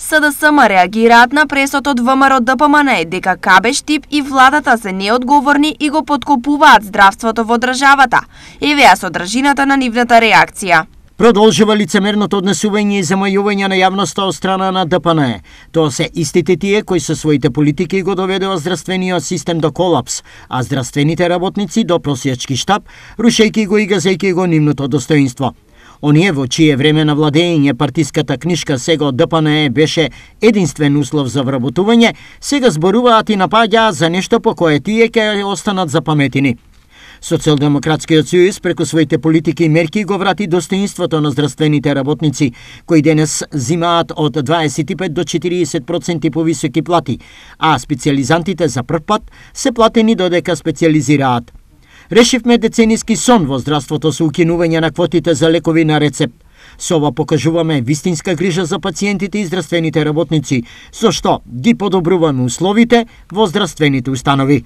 СДСМ реагираат на пресот од ВМРО ДПМН дека КБ Штип и владата се неодговорни и го поткопуваат здравството во државата. Еве содржината на нивната реакција. Продолжува лицемерното однесување и замајување на јавноста од страна на ДПН. Тоа се истите тие кои со своите политики го доведува здравствениот систем до колапс, а здравствените работници до просјачки штап, рушејќи го и газејќи го нивното достоинство. Оние во чие време на владење партиската книшка сега од ДПН беше единствен услов за вработување, сега зборуваат и напаѓаат за нешто по кое тие ќе останат запаметени. Социјалдемократскиот сојуз преку своите политики и мерки го врати достоинството на здравствените работници, кои денес зимаат од 25 до 40% повисоки плати, а специјализантите за прв пат се платени додека специјализираат. Решивме децениски сон во здравството со укинување на квотите за лекови на рецепт. Со ова покажуваме вистинска грижа за пациентите и здравствените работници, со што ги подобруваме условите во здравствените установи.